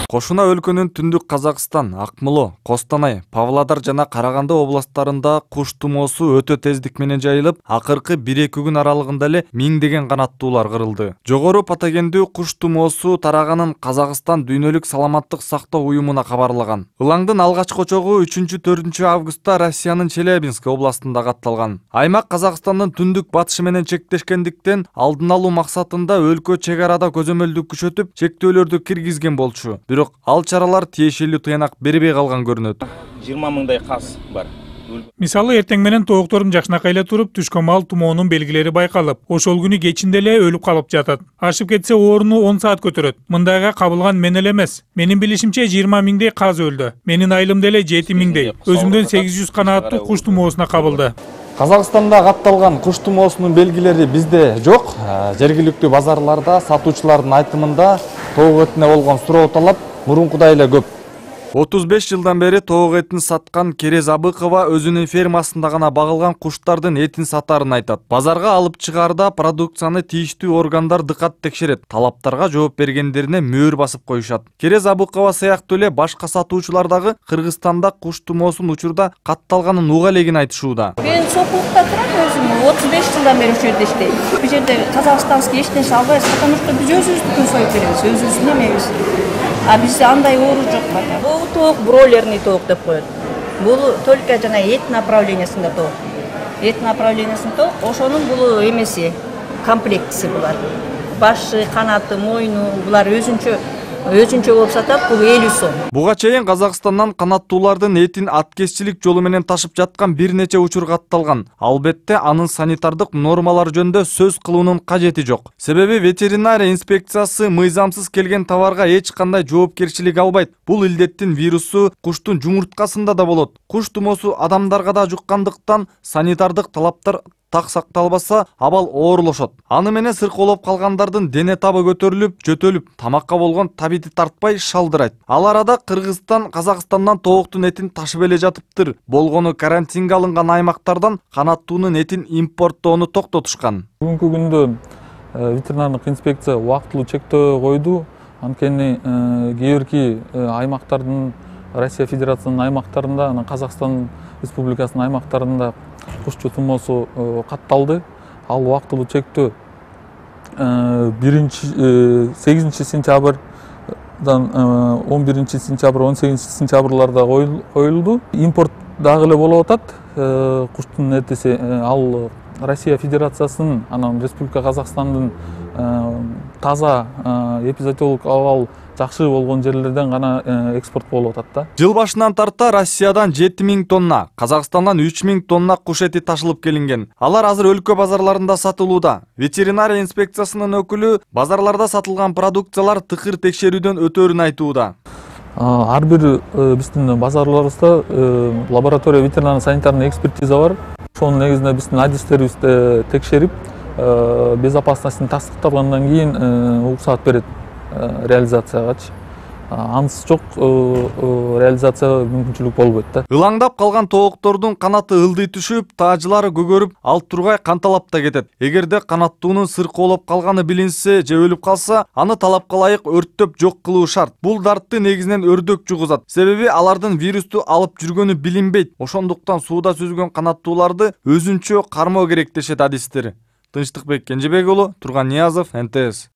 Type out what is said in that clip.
Кошуна өлкөнүн түндүк Казакстан, Акмола, Костанай, Павлодар жана Караганды областарында куш тумоосу өтө тездик менен жайылып, акыркы 1-2 күн аралыгында эле миңдеген канаттуулар кырылды. Жогору патогендүү куш тумоосу тараганын Казакстан Дүйнөлүк саламаттык сактоо уюмуна кабарлаган. Ылаңдын алгачкы очогу 3-4 августта Россиянын Челябинск областында катталган. Аймак Казакстандын түндүк батышы менен чектешкендиктен алдын алуу максатында өлкө чек арада көзөмөлдү күчөтүп, чектөөлөрдү киргизген болчу. Бирок ал чаралар тиешелүү тыянак бербей калган көрүнөт. 20 мыңдай каз бар. Мисалы эртең менен тооктордун жакшынакай эле туруп, түшкөн маал тумоонун белгилери байкалып, ошол күнү кечинде эле өлүп калып жатат. Ашып кетсе орууну 10 саат көтөрөт. Мындайга кабылган мен эле эмес. Менин билишимче 20 миңдей каз өлдү. Менин айылымда эле 7 миңдей. Өзүмдөн 800 канаттуу куш тумоосуна кабылды. Казакстанда катталган куш тумоосунун белгилери бизде жок. Жергиликтүү базарларда сатуучулардын айтымында тоок этине болгон суроо талап мурункудай эле көп. 35 жылдан бери тоок этин саткан Керез Абыкова өзүнүн фермасында гана багылган куштардын этин сатарын айтат. Базарга алып чыгаарда продукцияны тийиштүү органдар дыкат текшерет, талаптарга жооп бергендерине мөөр басып коюшат. Керез Абыкова сыяктуу эле башка сатуучулар дагы Кыргызстанда куш тумоосунун учурда катталганын уга элегин айтышууда. Мен Сокулукта турам өзүм, 35 жылдан бери ушул жерде иштейм. Бул жерде казакстанский эч нерсе албайбыз, потому что биз өзүбүздүкүн союп беребиз, өзүбүздүн эмебиз. А бизде андай оору жок бата. Бул тоок бройлерный тоок деп коет. Бул только жана эт направлениясында тоок. Эт направлениясында тоок, ошонун бул эмеси, комплектиси булар. Башы, канаты, мойну булар өзүнчө болуп сатат, бул 50 сом. Буга чейин Казакстандан канаттуулардын этин аткезчилик жолу менен ташып жаткан бир нече учур катталган. Албетте анын санитардык нормалар жөнүндө сөз кылуунун кажети жок. Себеби ветеринария инспекциясы мыйзамсыз келген товарга эч кандай жоопкерчилик албайт. Бул илдеттин вирусу куштун жумурткасында да болот. Куш тумоосу адамдарга да жуккандыктан санитардык талаптар так сакталбаса, абал оорлошот. Аны менен сыркоолоп калгандардын дене табы көтөрүлүп, жөтөлүп, тамакка болгон табити тартпай шалдырайт. Ал арада Кыргызстан Казакстандан тооктун этин ташып эле жатыптыр. Болгону карантинге алынган аймактардан канаттуунун этин импорттоону токтотушкан. Бүгүнкү күндө ветеринардык инспекция убактылуу чектөө койду. Анткени кээ бирки аймактардын, Россия Федерациянын аймактарында, анан Казакстан Республикасынын аймактарында куш тумоосу катталды. Ал убактылуу чектөө 8 сентябрдан 11 сентябрь, 18 сентябрларда коюлду. Импорт дагы эле болуп атат. Куштун этиси ал Россия Федерациясынын, анан Республика Казакстандын таза эпизоотиолог абал жакшы болгон жерлерден гана экспорт болуп атат да. Жыл башынан тарта Россиядан 7000 тонна, Казакстандан 3000 тонна куш эти ташылып келинген. Алар азыр өлкө базарларында сатылууда. Ветеринария инспекциясынын өкүлү базарларда сатылган продукциялар тыкыр текшерүүдөн өтөөрүн айтууда. Ар бир биздин базарларыбызда лаборатория ветеринарный санитарный экспертиза бар. Ошонун негизинде биздин адистерибизди текшерип, безопасностун тастыкталгандан кийин уруксаат берет реализациягачы. Ансыз жок реализация мүмкүнчүлүк болбойт да. Ылаңдап калган тооктордун канаты ылдый түшүп, таажылары көгөрүп, ал тургай канталап да кетет. Эгерде канаттуунун сыркоолоп калганы билинсе же өлүп калса, аны талапка ылайык өрттөп жок кылуу шарт. Бул дартты негизинен өрдөк жугузат. Себеби алардын вирусту алып жүргөнү билинбейт. Ошондуктан сууда сүзгөн канаттууларды өзүнчө кармоо керек дешет адистер. Тынчтыкбек Кенжебек уулу, Турган Ниязов, НТС.